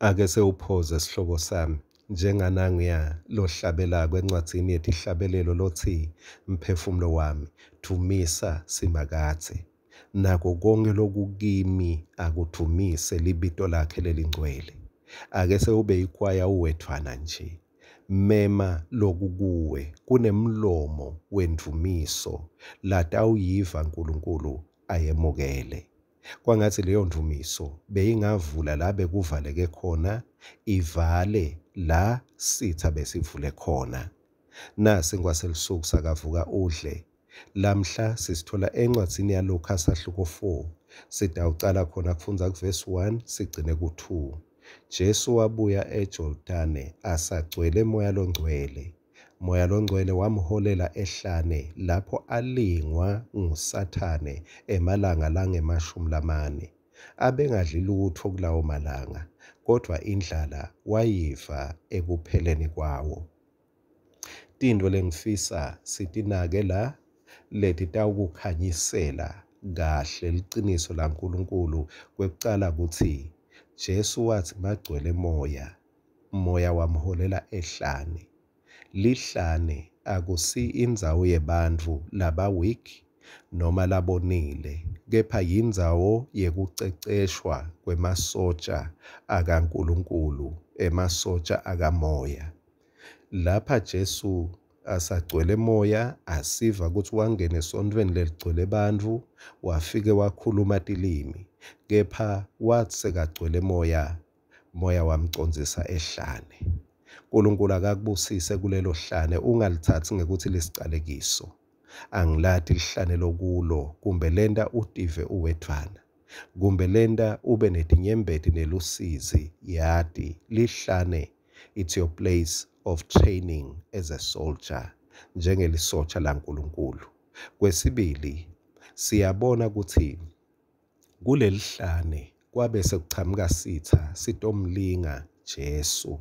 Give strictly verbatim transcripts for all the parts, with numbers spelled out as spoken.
Ake sewuphoze sihlobo sami, njengananguya lohlabelako encwadzini yetihlabelelo lotsi, Mphefumulo wami, dvumisa Simakadze. Nako konkhe lokukimi akudvumise libito lakhe lelingcwele. Ake sewube yikwaya uwedvwana nje. Mema lokukuwe kunemlomo wendvumiso latawuyiva Nkulunkulu ayemukele. Kwangatsi leyo ndvumiso beyingavula la bekuvaleke khona, ivale la sitsa besivule khona. Nasi ngwaselusuku sakavuka udle. Lamhla sisithola encwadzini yaLuka sahluko four. Sitawucala khona kufundza kuvesi one sigcine ku two. Jesu wabuya eJordane asagcwele Moya loNgcwele. Moya loNgcwele wamholela ehlane lapho alingwa nguSathane emalanga langemashumi lamane. Abengadli lutfo kulawo malanga, kodvwa indlala wayiva ekupheleni kwawo. Tintfo lengifisa sitinake la letitawukukhanyisela kahle liciniso laNkulunkulu. Kwekucala kutsi Jesu watsi magcwele Moya, Moya wamholela ehlane. Lihlane akusi indzawo yebantfu laba weak noma labonile, kepha yindzawo yekuceceshwa kwemasotja akaNkulunkulu, emasotja akamoya. Lapha Jesu asagcwele Moya, asiva kutsi wangena esontfweni leligcwele bantfu, wafike wakhuluma tilimi, kepha watsi sekagcwele Moya, Moya wamcondzisa ehlane. Nkulunkulu akakubusise kulelo hlane, ungalitsatsi ngekutsi lisicalekiso. Angilati lihlane lokulo, kumbe lenta utive uwedvwana, kumbe lenta ube netinyembeti nelusizi. Yati lihlane, it's your place of training as a soldier, njengelisotsha laNkulunkulu. Kwesibili, siyabona kutsi kulelihlane kwabe sekuchamuka sitha sitomlinga Jesu.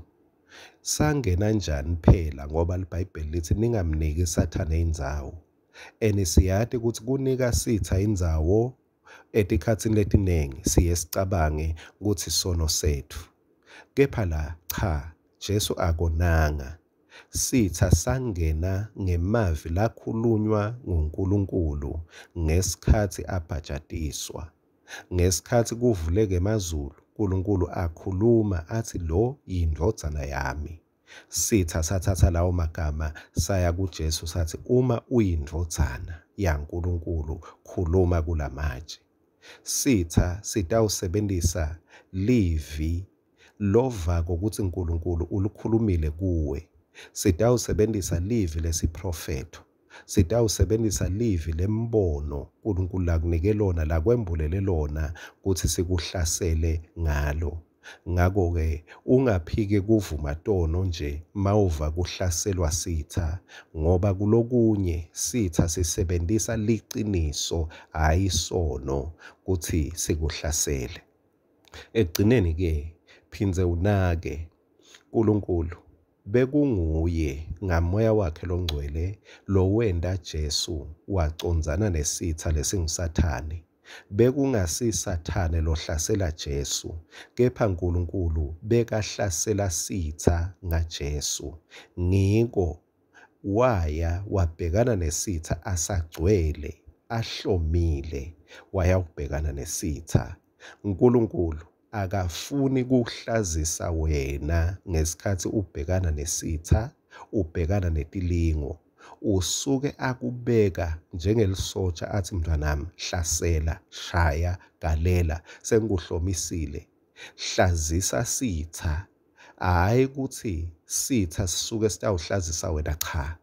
Sangena njani phela, ngoba liBhayibheli lithi ningamniki Sathane indzawo. And siyati kutsi kunika sitha indzawo etikhatsini letiningi siye sicabange kutsi sono setfu. Kepha la cha, Jesu akonanga. Sitha sangena ngemavi lakhulunywa nguNkulunkulu ngesikhatsi abhajatiswa. Ngesikhatsi kuvuleka emazulu, Nkulunkulu akhuluma athi lo yindvodzana yami. Sitha sathatha lawo magama saya kuJesu sathi uma uyindvodzana yaNkulunkulu khuluma kulamatshe. Sitha sitawusebentisa livi lovako kutsi Nkulunkulu ulikhulumile kuwe. Sitawusebentisa livi lesiprofetho. Sitawusebentisa livi lembono Nkulunkulu lakunike lona, lakwembulele lona kutsi sikuhlasele ngalo. Ngakho-ke ungaphiki kuvuma tono nje mawuva kuhlaselwa sitha, ngoba kulokunye sitha sisebentisa liciniso hhayi sono kutsi sikuhlasele. Ekugcineni-ke phindze unake Nkulunkulu bekunguye ngaMoya wakhe loNgcwele lowenta Jesu wacondzana nesitha lesinguSathane. Bekungasi Sathane lohlasela Jesu, kepha Nkulunkulu bekahlasela sitha ngaJesu. Ngiko waya wabhekana nesitha asagcwele, ahlomile, wayawubhekana nesitha. Nkulunkulu akafuni kuhlazisa wena ngesikhatsi ubhekana nesitha, ubhekana netilingo. Usuke akubeka njengelisotsha athi mntwanami hlasela, shaya, galela, sengikuhlomisile. Hlazisa sitha, hhayi kutsi sitha sisuke sitawuhlazisa wena, cha.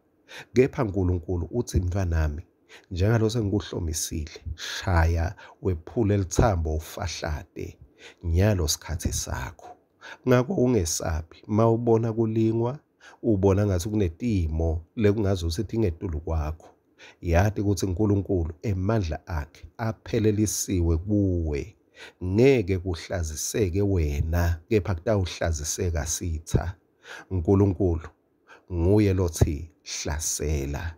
Kepha Nkulunkulu uthi mntwanami, njengalo sengikuhlomisile, shaya wephule litsambo ufahlate, nyalo sikhatsi sakho. Ngakho ungesabi mawubona kulingwa, ubona ngathi kunetimo lekungazuthi tingetulu kwakho. Yati kutsi Nkulunkulu emandla akhe aphelelisiwe kuwe. Ngeke kuhlaziseke wena, kepha kutawuhlaziseka sitha. Nkulunkulu nguye lothi hlasela,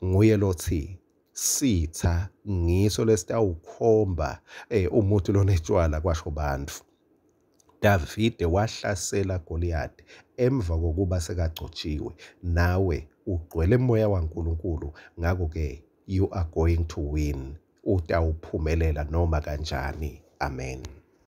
nguye lothi sitha ngiso lesitawukhomba eh, umuti lonetshwala kwasho bantfu. Davide wahlasela Goliyathi emva kokuba sekagcotshiwe. Nawe ugcwele moya waNkulunkulu, ngakho-ke you are going to win. Utawuphumelela noma kanjani. Amen.